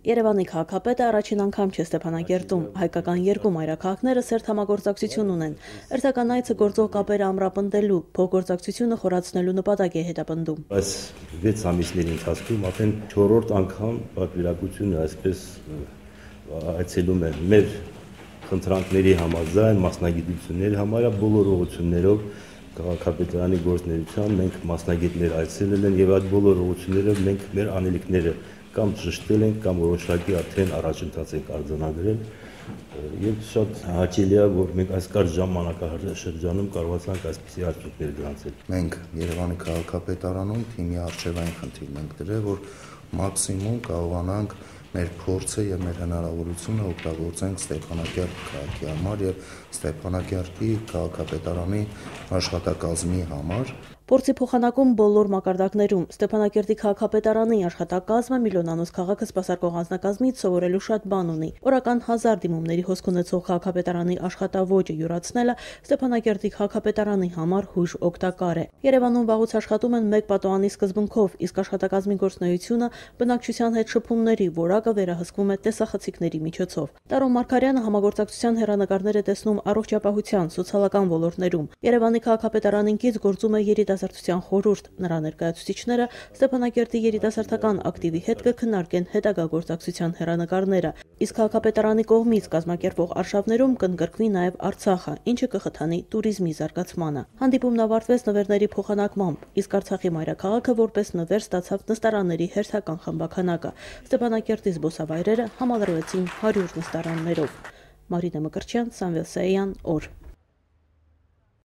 Երևանի քաղաքապետը առաջին անգամ չէ Ստեփանակերտում, հայկական երկու մայրաքաղաքները սերտ համագործակցություն ունեն, հերթական այցը գործող կապերը ամրապնդելու, փոխգործակցությունը խորացնելու նպատակ է հետապնդում։ Այս 6 ամիսների ընթացքում արդեն 4-րդ անգամ պատվիրակությունը այսպես այցելում է մեր խնդրանքների համաձայն, մասնագիտությունների համարյա բոլոր ուղղություններով քաղաքապետարանի գործունեության մենք մասնագետներ այցելել են եւ այդ բոլոր ուղղություններով մենք մեր անելիքները կամ ճշտել ենք կամ որոշակի արդեն առաջընթաց ենք արձանագրել եւ շատ հաճելի է որ մենք այս կարճ ժամանակաշրջանում կարողացանք այսպիսի արդյունքներ գրանցել։ Մենք Երևանի քաղաքապետարանում թիմի արժևային խնդիրն ենք դրել, որ մաքսիմում կարողանանք մեր փորձը եւ մեր հնարավորությունը օգտագործենք Ստեփանակերտ քաղաքի համար եւ Ստեփանակերտի քաղաքապետարանի աշխատակազմի համար։ Փորձի փոխանակում բոլոր մակարդակներում Ստեփանակերտի քաղաքապետարանի աշխատակազմը միլիոնանոց քաղաքը սպասարկող անձնակազմից սովորելու շատ բան ունի։ Օրական 1000 դիմումների հոսք ունեցող քաղաքապետարանի աշխատավոճը յուրացնելը Ստեփանակերտի քաղաքապետարանի համար հույժ օգտակար է։ Երևանում վաղուց աշխատում են մեկ պատոհանի սկզբունքով, իսկ աշխատակազմի գործունեությունը բնակչության հետ շփումների որակը վերահսկվում է տեսախցիկների միջոցով։ Տարոն Մարգարյանը համագործակցության հեռանկարներ է տեսնում առողջապահության, սոցիալական ոլորտներում։ Երևանի քաղաքապետարանին կից գործում է երիտասարդության խորհուրդ, նրա ներկայացուցիչները Ստեփանակերտի երիտասարդական ակտիվի հետ կքննարկեն հետագա գործակցության հեռանկարները, իսկ քաղաքապետարանի կողմից կազմակերպվող արշավներում կընդգրկվի նաև Արցախը, ինչը կխթանի туриզմի զարգացմանը։ Հանդիպումն ավարտվեց նվերների փոխանակմամբ, իսկ Արցախի մայրաքաղաքը որպես նվեր ստացավ նստարանների հերթական խմբաքանակը։ Ստեփանակերտի զբոսավայրերը համալրվեցին 100 նստարաններով։ Մարինե Մկրտչյան, Սամվել Սայյան, օր։